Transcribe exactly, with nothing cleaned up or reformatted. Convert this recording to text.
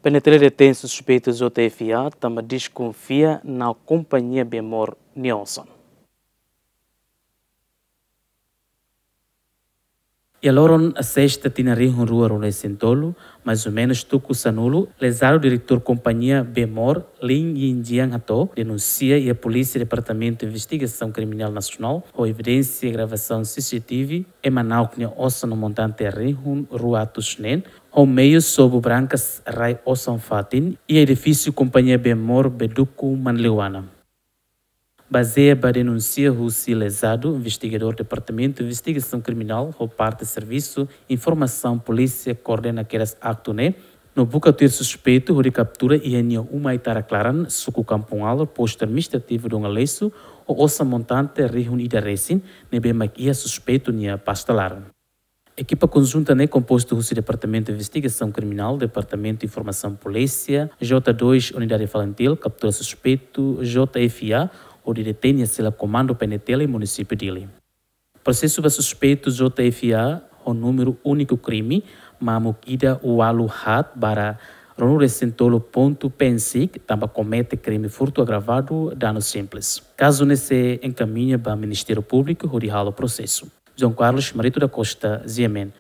PNTL detein suspeitu J F A tanba deskonfia na kompañia bee-moor nia osan. Iha loron sesta tinan rihun rua ruanulu-resin-tolu, mais ou menus tuku sanulu, lezadu diretór kompañia bee-moor, Lin Yinjiang hato'o, denunsia iha Polísia Departamentu Investigasaun Kriminál Nasionál, ho evidénsia gravasaun C C T V, ema na'ok nia osan no montante rihun rua atus neen, ho meius sobu brankas rai osan fatin, iha edifísiu kompañia bee-moor Beduku Manleuana. Bazeia ba denúnsia husi lezadu, investigadór Departamentu Investigasaun Kriminál ho parte Servisu Informasaun Polísia koordena kedas aktu ne'e, no buka tuir suspeitu hodi kaptura iha nia uma iha Tara Klaran, suku Kampung Alor, postu administrativu Donga Lesu, ho osan montante rihun ida resin, ne'ebé mak iha suspeitu nia pasta laran. Ekipa konjunta ne'e kompostu husi Departamentu Investigasaun Kriminál, Departamentu Informasaun Polísia, J dois Unidade Falintil, kaptura suspeitu J F A, hodi detein iha sela komandu PNTL iha munisípiu Dili. Prosesu ba suspeitu J F A ho númeru úniku krime, mamuk ida ualu haat barra ruanulu-resin-tolu pontu PNSIC, tanba komete krime furtu agravadu, danu simples. Kazu ne'e sei enkamiña ba Ministériu Públiku hodi halo prosesu. João Carlos Marito da Costa, G M N.